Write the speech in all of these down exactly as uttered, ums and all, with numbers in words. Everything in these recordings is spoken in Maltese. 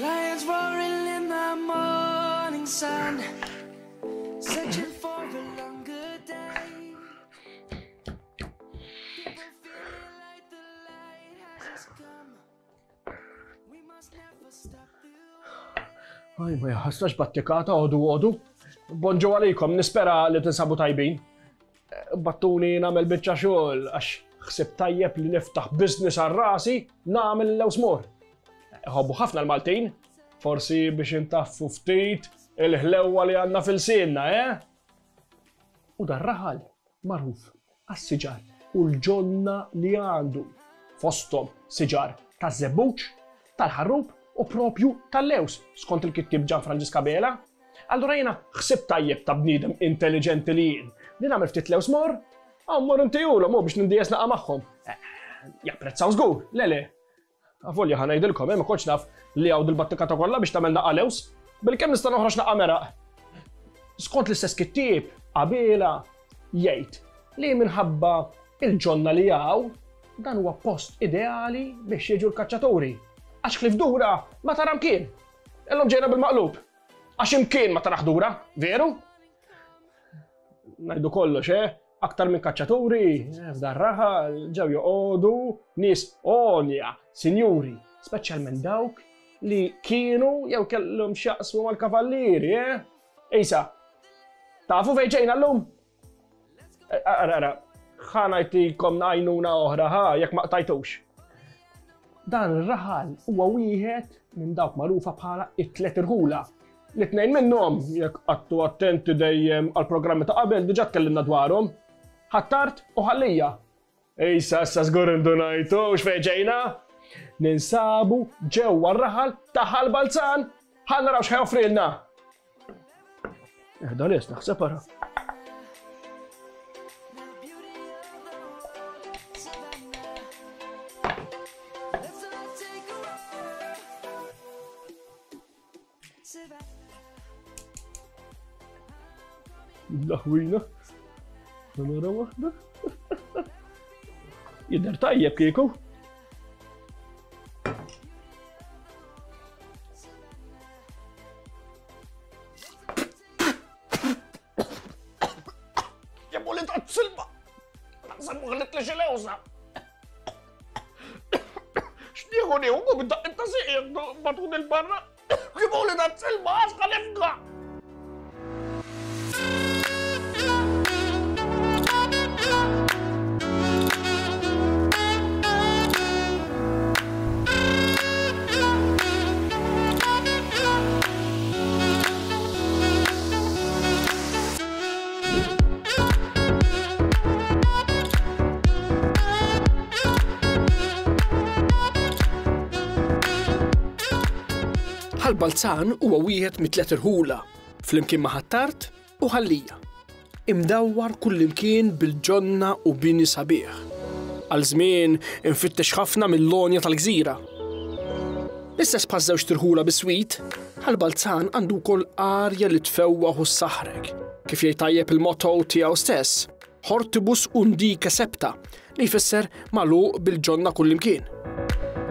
Lions roaring in the morning sun, searching for a longer day. People feeling like the light has just come. We must never stop the way. Aj, ma jaħasrax battikata, għodu għodu. Bonġu għalikom, nispera li tinsabu tajbin. Battuni nagħmel biċċa xogħol għax ħsib tajjeb li niftaħ business għal rasi nagħmel l-lewsmor. Ħobbu ħafna l-Maltin, forsi biex intaffu ftit il-ħlewwa li għandna fil-sinna, eh? U dar raħal magħruf għas-siġar u l-ġonna li għandu fosthom siġar taż-żebbuġ, tal-ħarrub u propju tal-lews, skont il-kittieb Gian Franġisk Abela. Allura jiena ħsib tajjeb ta' bniedem intelligenti li jien. Li nagħmel ftit lews mor, għaw mor intijulhom u biex nindijes naqa' magħhom. Japprezzaw żgur, le le. Avolja ħa ngħidilkom, eh, ma kontx naf li hawn dil-battikata kollha biex tagħmel naqa' lews, bilkemm nista' noħroġ naqa' meraq. Skont l-istess kittieb, Abela jgħid li minħabba il-ġonna li hawn, dan huwa post ideali biex jiġu l-kaċċaturi. Għax ħlief dura ma tara mkien. Illum ġejna bil-maqlub. Għax imkien ma tarax dura, veru? Ngħidu kollox, eh? Aktar minn kaċċaturi, eh, f'dan raħal ġew joqogħdu nies għonja, sinjuri, speċjalment dawk li kienu jew kellhom x'jaqsmu mal-kavallieri, eh? Isa, tafu fejn ġejna llum? Ara, ara, ħa ngħidilkom għajnuna oħra, ħa, jekk ma qtajtux. Dan ir-raħal huwa wieħed minn dawk magħrufa bħala it-tliet irħula. L-tnejn minnhom, jekk qattu attenti dejjem għall-programmi ta' qabel, diġà tkellimna dwarhom. Ħ'Attard u Ħal Lija. Issa, issa żgur indunajtu x'fejn ġejna. Ninsabu ġewwa r-raħal ta' Ħal Balzan. Ħa naraw x'ħa joffrilna. Eħda les, naħseb ara. Let's all take a walk. Savannah. Laħwina. Nara waħda. Jidher tajjeb kieku. Jemmu li ta' silba. Naħseb muħlit li xi lewża. X'nieħu nieħu bid-daqq ta' sieq batun il-barra. Jemmu li ta' silba għax ħalifka. Ħal Balzan huwa wieħed mit-tliet irħula, flimkien ma' Ħ'Attard u Ħal Lija. Imdawwar kullimkien bil-ġonna u bini sabiħ. Għal żmien infittex ħafna mill-lonja tal-gżira. L-istess bħaż żewġ tirħula biswit, Ħal Balzan għandu wkoll arja li tfewwaħ u ssaħrek, kif jgħid tajjeb il-motto tiegħu stess, Hortibus undique septa, li jfisser magħluq bil-ġonna kullimkien.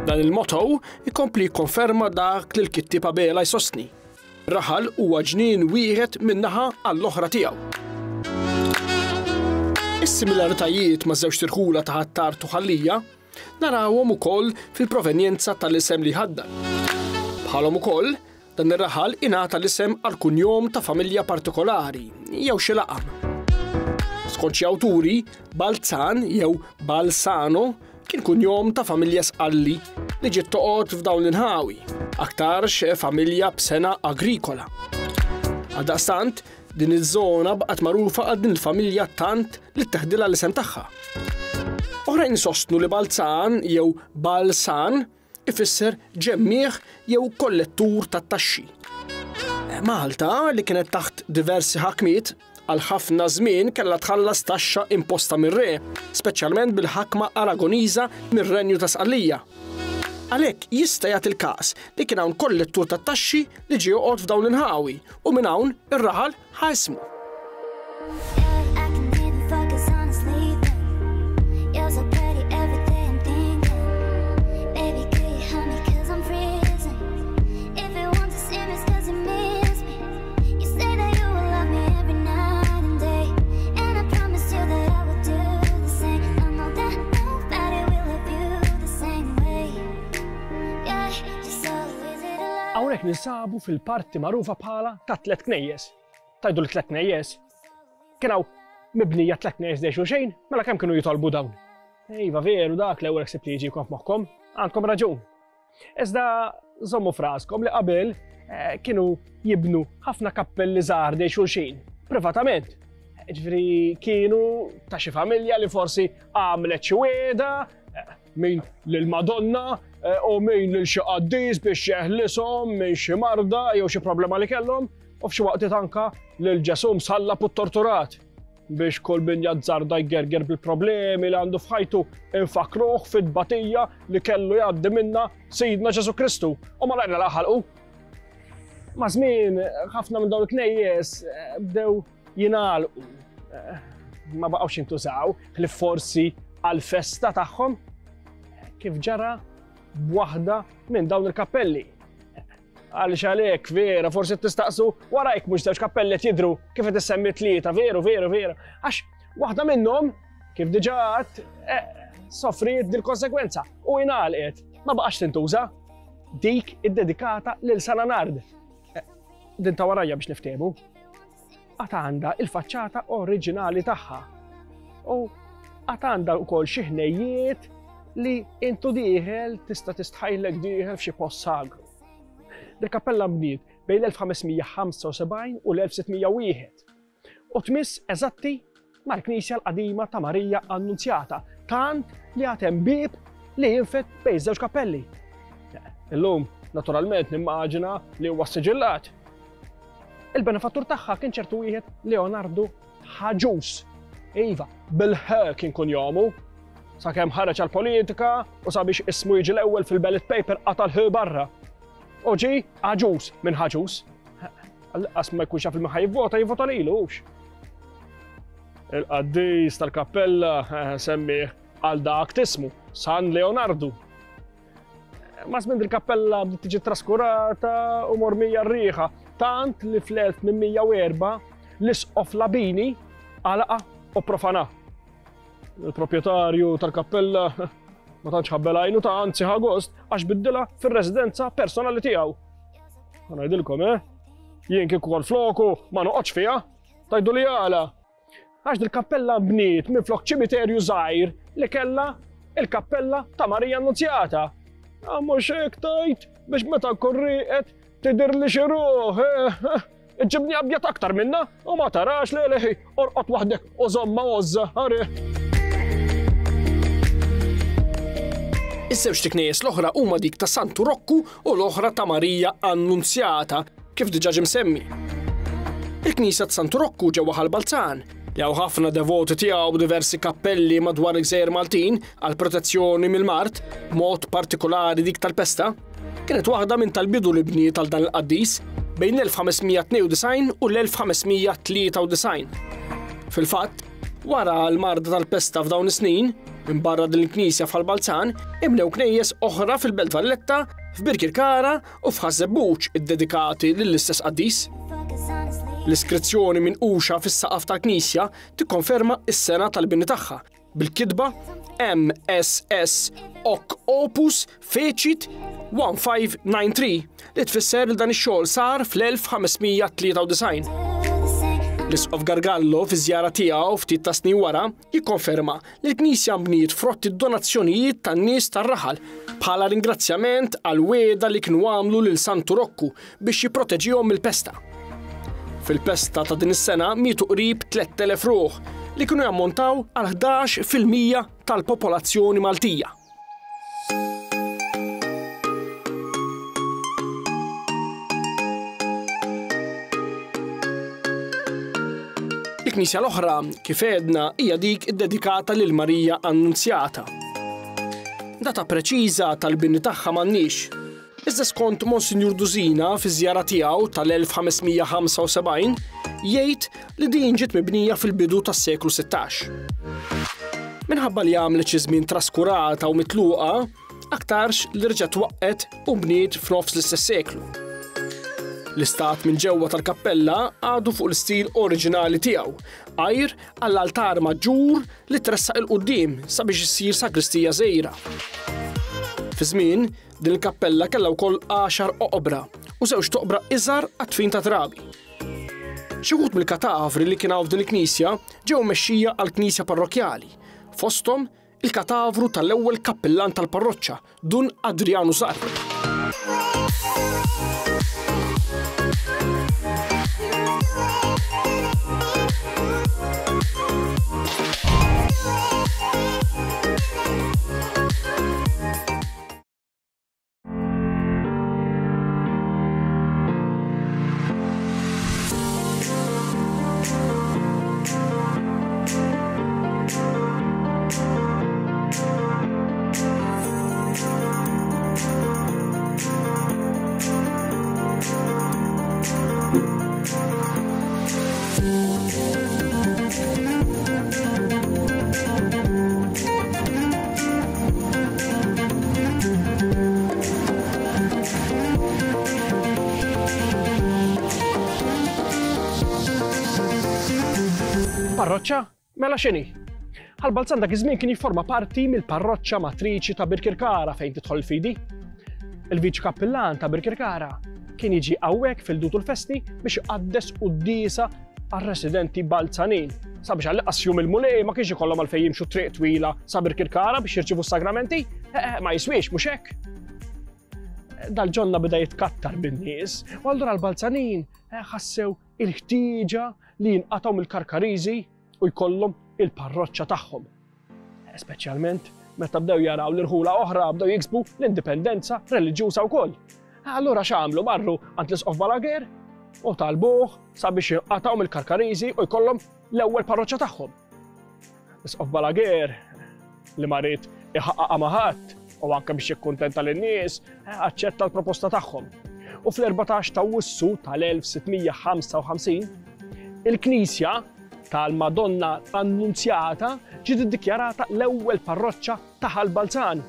Dan il-motto ikompli jikkonferma dak li l-kittieb Abela jsostni. Raħal huwa ġnien wieħed min-naħa għall-oħra tiegħu. Is-similaritajiet ma' żewġ tirħula ta' Ħ'Attard u Ħal Lija narawhom ukoll fil-provenjenza tal-isem li ħaddan. Bħalhom ukoll, dan ir-raħal ingħata l-isem għal kunjom ta' familja partikolari jew xi laqam. Skont xi awturi, Balzan jew Balsano kien kunjom ta' familja Sqalli li ġiet toqgħod f'dawn l-inħawi, aktarx familja b'sena agrikola. Għaldaqstant, din iż-żona baqgħet magħrufa għal din il-familja tant li teħdilha l-isem tagħha. Oħrajn sostnu li Balzan jew Balsan ifisser ġemmieħ jew kollettur tat-taxxi. Malta, li kienet taħt diversi ħakmiet, għal ħafna żmien kellha tħallas taxxa imposta mir-re, speċjalment bil-ħakma Aragoniża mir-Renju ta' Sqallija. Għalhekk jista' jagħti il-każ li kien hawn kollettur tat-taxxi li ġie joqgħod f'dawn l-inħawi u minn hawn ir-raħal ħa ismu. I can even focus on sleeping. You're so pretty every day I'm thinking. Baby, could you help me 'cause I'm freezing. If you want to see me, it's 'cause you miss me. You say that you will love me every night and day. And I promise you that I will do the same. I know that nobody will love you the same way. Yeah, just so easy to love. Hawnhekk ninsabu fil-parti magħrufa bħala ta' tliet knejjes. Tgħidu li tliet knejjes? Kien hawn mibnija tliet knejjes dej xulxejn, mela kemm kienu jitolbu dawn? Iva veru dak l-ewwel ħsieb li jiġikom f'moħħkom, għandkom raġun. Iżda żommu f'raskom li qabel eh, kienu jibnu ħafna kappelli żgħar dej xulxin, privatament. Ġifieri kienu ta' xi familja li forsi għamlet xi wieda, eh, min lil Madonna eh, u min lil xi qaddis biex jeħlishom minn xi marda jew xi problema li kellhom, u f'xi waqtiet anka lil Ġesù msallab u torturat biex kull min jazzarda jgerger bil-problemi li għandu f'ħajtu infakruh fit-tbatija li kellu jgħaddi minna Sidna Ġesù Kristu u ma laqna laħalqu. Ma' żmien ħafna minn dawn il-knejjes eh, bdew jingħalqu. Eh, Ma baqgħux jintużaw li forsi għal-festa tagħhom kif ġara b'waħda minn dawn il-kappelli. Għaliex għalek, vera, forsi tistaqsu warajk mhux żewġ kappelli qed jidru kif qed issemmi tlieta, veru, veru, veru. Għax waħda minnhom, kif diġà għedt, eh, soffriet dil-konsekwenza u ingħalqet, ma baqax tintuża. Dik iddedikata lil San Anard. Eh, Din ta' warajja biex niftehmu. Għad għandha il-faċċata oriġinali tagħha. U għad għandha wkoll xi ħnejjiet li intu dieħel tista' tistħajlek dieħel f'xi post sagru. Dil-kappella bniet bejn l-elf ħames mija ħamsa u sebgħin u l-elf sitt mija u wieħed. U tmiss eżatti mal-Knisja l-qadima ta' Marija Annunzjata, tant li għad hemm bieb li jinfed bejn żewġ kappelli. Illum, naturalment, nimmaġina li huwa siġillat. Il-benefattur tagħha kien ċertu wieħed Leonardo Ħaġus. Iva, bil-ħ kien kunjomu. Sakemm ħareġ għal-politika u sabiex ismu jiġi l-ewwel fil-ballot paper qata' l-ħ barra. U ġi Aġus minn Ħaġus. Għas ma jkunx jaf il-min jivvota, jivvota lilu hux. Il-qaddis tal-kappella eh, semmih għal dak tismu, San Leonardo. Ma żmien il-kappella bdiet tiġi traskurata u mormija r-riħa, tant li fl-elf tmien mija u erbgħa l-isqof Labini għalaqa u profana. Il-proprjetarju tal-kappella ma tantx ħabbel għajnu ta' anzi ħa gost għax biddilha fir-residenza personali tiegħu. Ħa ngħidilkom, eh? Jien kieku kont floku ma noqgħodx fiha, tgħidu li għala. Għax dil-kappella bniet minn flok ċimiterju żgħir li kellha il-kappella ta' Marija Annunzjata. Ah, mhux hekk tgħid biex meta nkun rieqed tidir li xi ruħ, eh, iġibni abjad aktar minna u ma tarax li li orqod waħdek u żomma għożża, għari. Iż-żewġ knejjes l-oħra huma dik ta' Santu Rokku u l-oħra ta' Marija Annunzjata, kif diġà ġie msemmi. Il-Knisja ta' Santu Rokku ġewwa Ħal Balzan, li hawn ħafna devoti tiegħu diversi kappelli madwar il-Gżejjer Maltin għal protezzjoni mill-mard, mod partikolari dik tal-pesta, kienet waħda minn tal-bidu li bniet għal dan il-qaddis bejn l-elf ħames mija tnejn u disgħin u l-elf ħames mija tlieta u disgħin. Fil-fatt, wara l-marda tal-pesta f'dawn is-snin, minn barra din il-knisja f'Ħal Balzan, imlew knejjes oħra fil-Belt Valletta, f'Birkirkara u f'Ħaż-Żebbuġ iddedikati lill-istess qaddis. Focus on sleeping. L-iskrizzjoni minquxa fis-saqaf tal-knisja tikkonferma s-sena tal-bini tagħha bil-kitba M S S Hoc Opus Fecit one five nine three li tfisser li dan ix-xogħol sar fl-elf ħames mija tlieta u disgħin. L-Isqof Gargallo fi żjara tiegħu ftit ta' snin wara jikkonferma li l-knisja nbniet frott id-donazzjonijiet tan-nies tar-raħal bħala ringrazzjament għal wiegħda li kienu għamlu lil Santu Rokku biex jipproteġihom mill-pesta. Fil-pesta ta' din is-sena mietu qrib tlett elef ruħ li kienu jammontaw għal ħdax fil-mija tal-popolazzjoni Maltija. Il-knisja l-oħra, kif għedna, hija dik iddedikata lil Marija Annunzjata. Data preċiża tal-bini tagħha m'għandniex. Iżda skont Monsinjur Dusina fi żjara tiegħu tal-elf ħames mija ħamsa u sebgħin jgħid li din ġiet mibnija fil-bidu tas-seklu sittax. Minħabba li għamlet xi żmien traskurata u mitluqa, aktarx li reġgħet waqqet u bniet f'nofs l-istess seklu. L-istat minn ġewwa tal-kappella għadu fuq l-istil oriġinali tiegħu, għajr għall-altar maġġur li tressaq il-quddiem sabiex issir sagristija żgħira. Fi żmien, din il-kappella kellha wkoll għaxar oqbra u żewġ toqbra iżgħar għat-tfin ta' trabi. Xi wħud mill-katavri li kien hawn f'din il-knisja ġew mexxija għall-knisja parrokkjali, fosthom il-katavru tal-ewwel kappillan tal-parroċċa, Dun Adrianu Zarb. Parroċċa? Mela x'inhi? Ħal Balzan dak iż-żmien kien jifforma parti mill-parroċċa matriċi ta' Birkirkara fejn tidħol il-fidi. Il-viċi kappillan ta' Birkirkara kien jiġi hawnhekk fil-dutu l-festi biex iqaddes quddiesa għar-residenti Balzanin. Sabiex għall-inqas jum il-Mulej ma kienx ikollhom għalfejn jimxu triq twila sa Birkirkara biex jirċievu s-sagramenti, eh, eh, ma jiswiex mhux hekk. Dal-ġonna beda jitkattar bin-nies, u allura l-Balzanin, eh, ħassew il-ħtieġa li jinqatgħu mill-Karkariżi u jkollhom il-parroċċa tagħhom. Speċjalment meta bdew jaraw l-irħula oħra bdew jiksbu l-indipendenza reliġjuża wkoll. Allura x'għamlu? Marru għand l-Isqof Balaguer u talbuh sabiex jinqatgħu mill-Karkariżi u jkollhom l-ewwel parroċċa tagħhom. L-Isqof Balaguer li ma ried iħaqqaqha ma' ħadd u anke biex jikkuntenta lin-nies, aċċetta l-proposta tagħhom. U fl-erbatax ta' Awwissu tal-elf sitt mija ħamsa u ħamsin, il-Knisja tal-Madonna Annunzjata ġiet iddikjarata l-ewwel parroċċa ta' Ħal Balzan,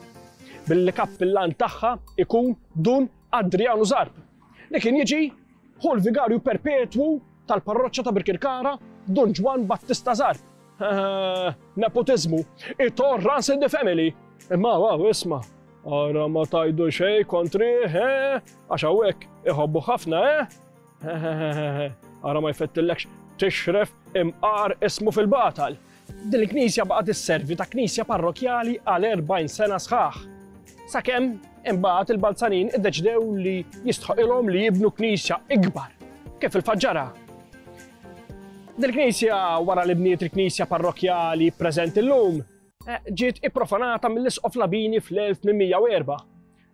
billi kappillan tagħha ikun Dun Adrianu Zarb, li kien jiġi hu l-vigarju perpetwu tal-parroċċa ta' Birkirkara Dun Ġwann Battista Zarb. Nepotizmu, it all runs in the family. Imma wow, isma', ara ma tajdu xejn kontri, eh, għax hawnhekk iħobbu ħafna, eh? Ara ma jfettillekx tixref imqar ismu fil-batal. Din il-knisja baqgħet isservi ta' knisja parrokjali għal erbgħin sena sħaħ. Sakemm imbagħad il-Balzanin iddeċidew li jistħoqilhom li jibnu knisja ikbar, kif il-Faġġara. Din il-knisja wara li bniet il-knisja parrokjali preżenti llum, eh, ġiet ipprofanata mill-Isqof Labini fl-elf tmien mija u erba'.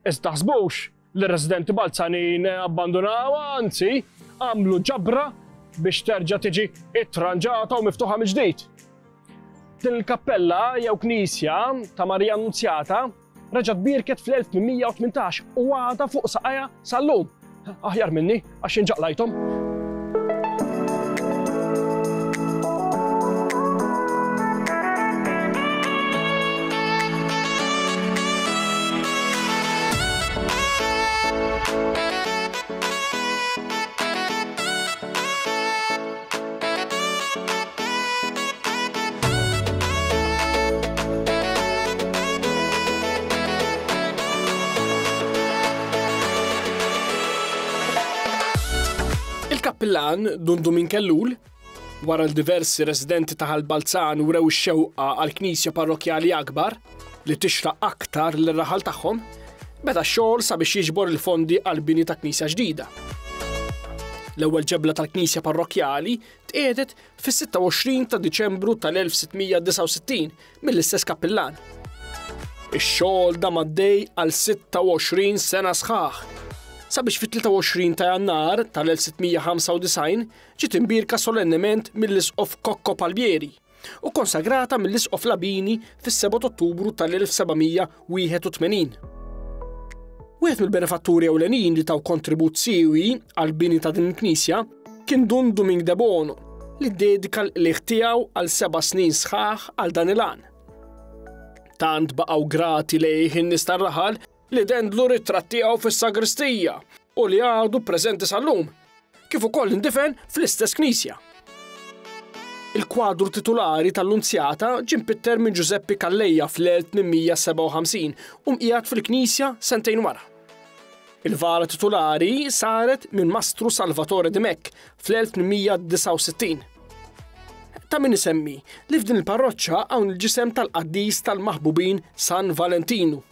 Iżda taħsbux li r-residenti Balzanin abbandunawha, anzi għamlu ġabra biex terġa' tiġi ittranġata u miftuħa mill-ġdid. Din il-kappella jew knisja ta' Marija Annunzjata reġgħet bierket fl-elf tmien mija u tmintax u għadha fuq saqajha sal-lum. Aħjar minni għax inġaqlajthom. Il-kappillan Dun Dumink Ellul, wara l-diversi residenti ta' Ħal Balzan wrew ix-xewqa għal knisja parrokkjali akbar li tixraq aktar lir-raħal tagħhom, beda x-xogħol sabiex jiġbor il-fondi għal bini ta' knisja ġdida. L-ewwel ġebla tal-knisja parrokkjali tqiegħdet fis-sitta u għoxrin ta' Diċembru tal-elf sitt mija disgħa u sittin mill-istess kappillan. Ix-xogħol dam għaddej għal sitta u għoxrin sena sħaħ, sabiex fit-tlieta u għoxrin ta' Jannar tal-elf sitt mija ħamsa u disgħin ġiet imbierka solennement mill-Isqof Cocco Palmieri u konsagrata mill-Isqof Labini fis-seba' ta' Ottubru tal-elf seba' mija wieħed u tmenin. Wieħed mill-benefatturi ewlenin li taw kontribut siewi għall-bini ta' din il-knisja kien Dun Dumink de Bono, li ddedika l-qligħ tiegħu għal seba' snin sħaħ għal dan il-għan. Tant baqgħu grati lejh in-nies tar-raħal li dendlu ritratt tiegħu fis-sagristija u li għadu preżenti sal-lum, kif ukoll indifen fl-istess knisja. Il-kwadru titulari tal-Lunzjata ġie mpitter minn Giuseppe Calleja fl-elf tmien mija sebgħa u ħamsin u mqiegħed fil-knisja sentejn wara. Il-vara titulari saret minn Mastru Salvatore Dimech fl-elf tmien mija disgħa u sittin. Ta' min isemmi li f'din il-parroċċa hawn il-ġisem tal-qaddis tal-maħbubin San Valentinu.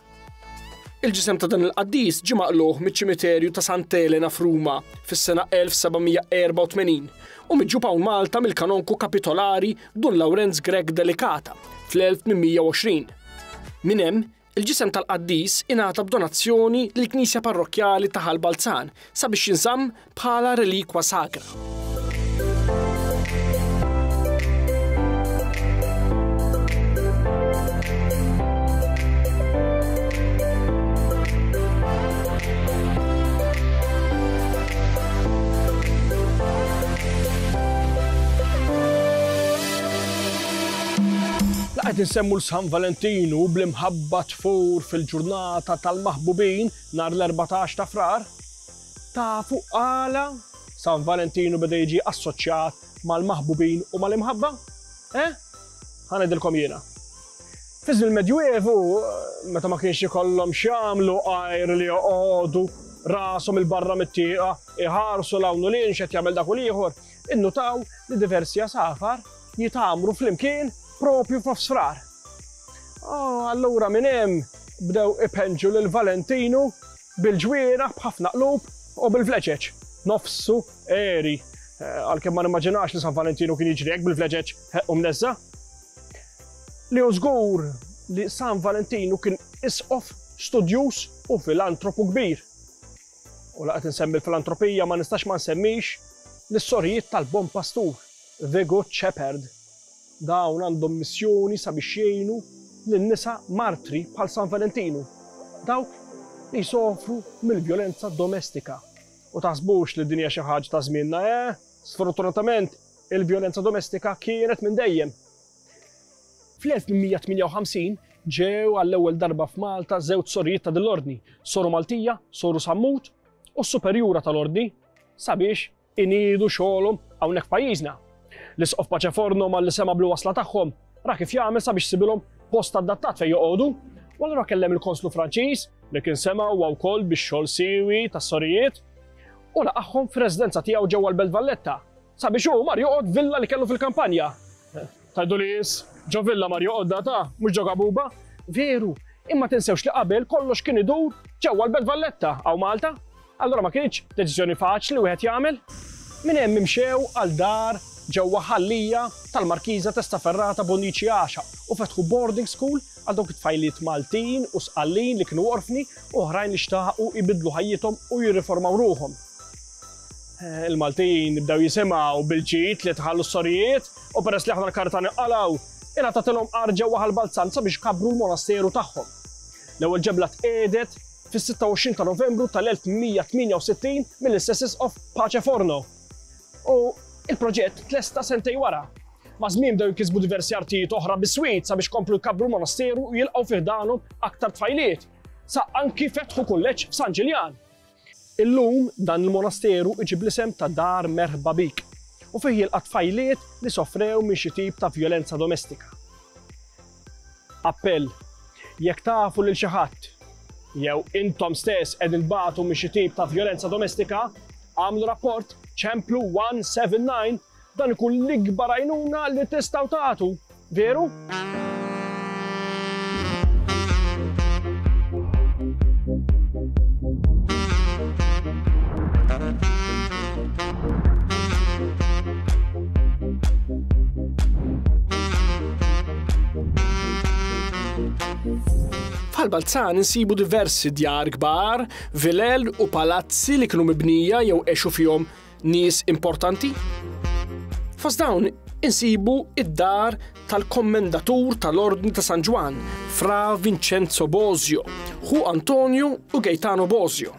Il-ġisem ta' dan il-qaddis ġie maqluħ miċ-ċimiterju ta' Sant'Elena f'Ruma fis-sena elf seba' mija erba' u tmenin u miġġub hawn Malta mill-kanonku kapitolari Dun Lawrenz Grech Delicata fl-elf tmien mija u għoxrin. Minn hemm, il-ġisem tal-qaddis ingħata b'donazzjoni lill-Knisja Parrokkjali ta' Ħal Balzan sabiex jinżamm bħala relikwa sagra. Qed insemmu l-San Valentinu bl-imħabba tfur fil-ġurnata tal-maħbubin nhar l-erbatax ta' Frar. Tafu għala San Valentinu beda jiġi assoċjat mal-maħbubin u mal-imħabba? Eh? Ħa ngħidilkom jiena. Fi żmien il-Medjuevu, meta ma kienx ikollhom x'jagħmlu għajr li joqogħdu rashom il-barra mit-tieqa, iħarsu l-hawn u lin x'qed jagħmel dak u l-ieħor, innutaw li diversi għasafar jitamru flimkien propju f'nofs Frar. Oh, allura minn hemm bdew ipenġu lil Valentinu bil-ġwienaħ b'ħafna qlub u bil-vleġeġ. Nofsu eri. Eh, għalkemm ma nimmaġinax li San Valentinu kien jiġri hekk bil-vleġeġ u mneżża. Li hu żgur li San Valentinu kien isqof studjuż u filantropu kbir. U laqgħet insemmi l-filantropija ma nistax ma nsemmix l-sorijiet tal-Bon Pastur, The Good Shepherd. Dawn għandhom missjoni sabiex jgħinu lin-nisa martri bħal San Valentinu, dawk li jsofru mill-vjolenza domestika. U taħsbux li din hija xi ħaġa ta' żmienna, eh? Sfortunatament, il-vjolenza domestika kienet minn dejjem. Fl-elf tmien mija tmienja u ħamsin ġew għall-ewwel darba f'Malta żewġ sorijiet ta' dil-ordni, Soru Maltija, Soru Sammut u s-Superjura tal-Ordni sabiex iniedu xogħolhom hawnhekk f'pajjiżna. L-Isqof Pace Forno malli sema bl-wasla tagħhom ra kif jagħmel sabiex sibilhom post adattat fejn joqogħdu, u allura kellem il-Konslu Franċiż li kien sema huwa wkoll bix-xogħol siewi tas-sorijiet u laqagħhom fir-residenza tiegħu ġewwa l-Belt Valletta sabiex hu mar joqgħod villa li kellu fil-kampanja. Tajdu li jis, ġo villa mar joqgħod data, mhux ġo gabuba. Veru, imma tinsewx li qabel kollox kien idur ġewwa l-Belt Valletta hawn Malta. Allura ma kienx deċiżjoni faċli wieħed jagħmel. Minn hemm imxew għal dar ġewwa Ħal-Lija tal-Markiża Testaferrata Bonnici Għaxaq u fetħu boarding school għal dawk it-tfajliet Maltin u Sqallin li kienu orfni u oħrajn li xtaqu jbidlu ħajjithom u jirriformaw ruħhom. Eh, il-Maltin bdew jisimgħu bil-ġid li tħallu s-sorijiet u peress li aħna l-karta nqalgħu, ingħatatilhom għar ġewwa Ħal Balzan sabiex kabru l-monasteru tagħhom. L-ewwel ġebla tqiegħdet fis-sitta u għoxrin ta' Novembru tal-elf mija tmienja u sittin mill-istess Isqof Pace Forno. U il-proġett tlesta sentej wara. Ma' żmien bdew jkisbu diversi artijiet oħra biswit sabiex komplu jkabbru l-monasteru u jilqgħu fih danhom aktar tfajliet. Sa anki fetħu kulleġġ f'San Ġiljan. Illum dan il-monasteru iġib l-isem ta' Dar Merħba Bik u fih jilqa' tfajliet li sofrew minn xi tip ta' vjolenza domestika. Appell, jekk tafu lil xi ħadd jew intom stess qegħdin tbatu minn xi tip ta' vjolenza domestika, għamlu rapport ċemplu one seven nine, dan ikun l-ikbar għajnuna li tistgħu tagħtu, veru? F'Ħal Balzan insibu diversi djar kbar, vilel u palazzi li kienu mibnija jew għexu fihom nies importanti. Fost dawn insibu id-dar tal-kommendatur tal-Ordni ta' San Ġwann, Fra Vincenzo Bosio, ħu Antonio u Gaetano Bosio.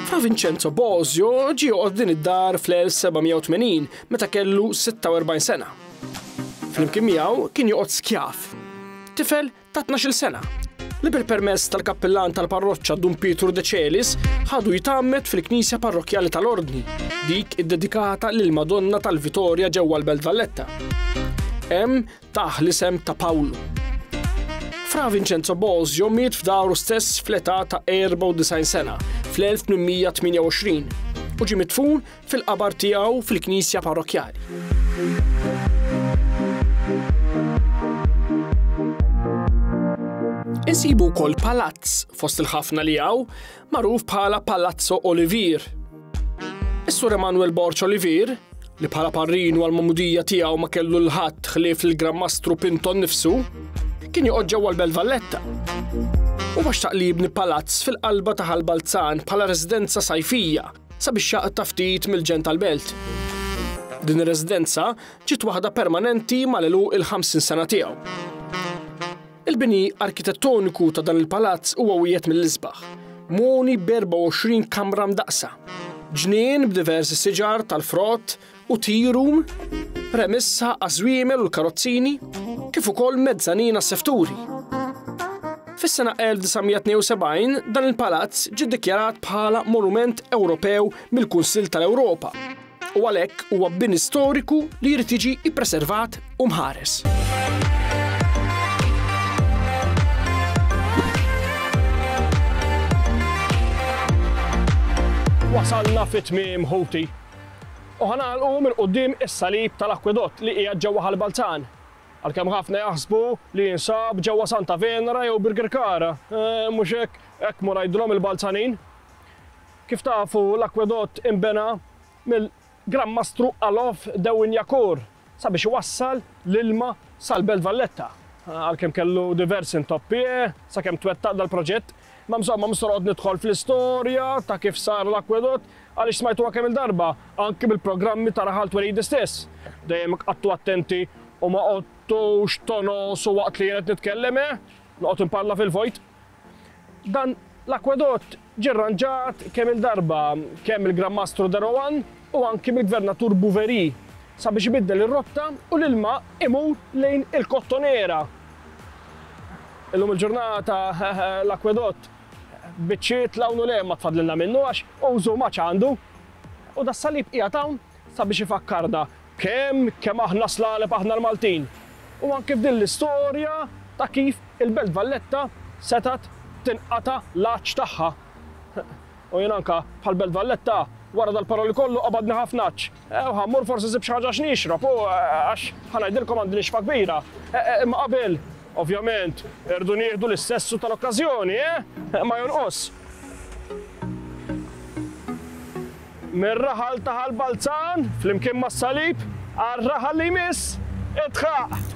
Fra Vincenzo Bosio ġie joqgħod din id-dar fl-elf seba' mija u tmenin meta kellu sitta u erbgħin sena. Flimkien miegħu kien joqgħod skjav, tifel ta' tnax-il sena, li bil-permess tal-kappillan tal-parroċċa Dun Pietru De Celis ħadu jitgħammed fil-knisja parrokkjali tal-Ordni, dik iddedikata lil Madonna tal-Vitorja ġewwa l-Belt Valletta. Hemm tah l-isem ta' Pawlu. Fra Vincenzo Bosio miet f'daru stess fl-età ta' erba' u disgħin sena fl-elf tmien mija tmienja u għoxrin u ġie midfun fil-qabar tiegħu fil-knisja parrokkjali. Insibu wkoll palazz fost il-ħafna li hawn magħruf bħala Palazzo Olivier. Is-Sur Emanuel Borg Olivier, li bħala parrinu għall-mamudija tiegħu ma kellu l-ħadd ħlief il-Gran Mastru Pinto nnifsu, kien joqgħod ġewwa l-Belt Valletta. U xtaq li jibni palazz fil-qalba ta' Ħal Balzan bħala residenza sajfija sabiex jaqta' ftit mill-ġen tal-belt. Din ir-residenza ġiet waħda permanenti mal-għeluq il-ħamsin sena tiegħu. Il-bini arkitettoniku ta' dan il-palazz huwa wieħed mill-isbaħ, moni b'erba' u għoxrin kamra mdaqsa, ġnien b'diversi siġar tal-frott u tea room, remissa għaż-żwiemel u l-karozzini, kif ukoll mezzanina sefturi. Fis-sena elf disa' mija tnejn u sebgħin dan il-palazz ġie ddikjarat bħala Monument Ewropew mill-Kunsill tal-Ewropa u għalhekk huwa bini storiku li jrid jiġi ippreservat u mħares. Wasalna fit-tmiem ħuti. U ħanalqu minn quddiem is-salib tal-akwedott li qiegħed ġewwa Ħal Balzan. Għalkemm ħafna jaħsbu li jinsab ġewwa Santa Venera jew Birkirkara. Eh, mhux hekk, hekk mur ngħidulhom il-Balzanin. Kif tafu l-akwedott imbena mill-Gran Mastru Alof de Wignacourt sabiex iwassal l-ilma sal-Belt Valletta. Għalkemm kellu diversi intoppi, eh, sakemm twettaq dal-proġett. Ma insomma, mhux noqgħod nidħol fl-istorja ta' kif sar l-akwedott għaliex smajtuha kemm il-darba anki bil-programmi ta' Raħal Twelidi stess. Dejjem qattu attenti u ma qgħodtux tonosu waqt li jien qed nitkellem, eh? Noqgħod imparla fil-vojt. Dan l-akwedott ġie rranġat kemm il-darba kemm il-Gran Mastru de Rohan u anki mill-Gvernatur Bouverie sabiex ibiddel ir-rotta u l-ilma imur lejn il-Kottonera. Illum il-ġurnata l-akwedott biċċiet l-hawn u le ma tfadlilna minnu għax użu ma ċandu. U da salib qiegħed hawn sabiex ifakkarna kemm, kemm aħna slaleb aħna l-Maltin. U anke f'din l-istorja ta' kif il-Belt Valletta setat tinqata' l-għatx tagħha. U jien anka bħal Belt Valletta wara dal-paroli kollu qabadni ħafna għatx. E, u ħammur forsi sib xi ħaġa x'nixrob, u, e, għax ħanajdilkom għandi nixfa kbira. E, e, imma qabel, ovvjament, irdu nieħdu l-istessu tal-okkażjoni, eh? Ma jonqos. Mir-raħal ta' Ħal Balzan, flimkien mas-salib, għar-raħal li jmiss, idħaq!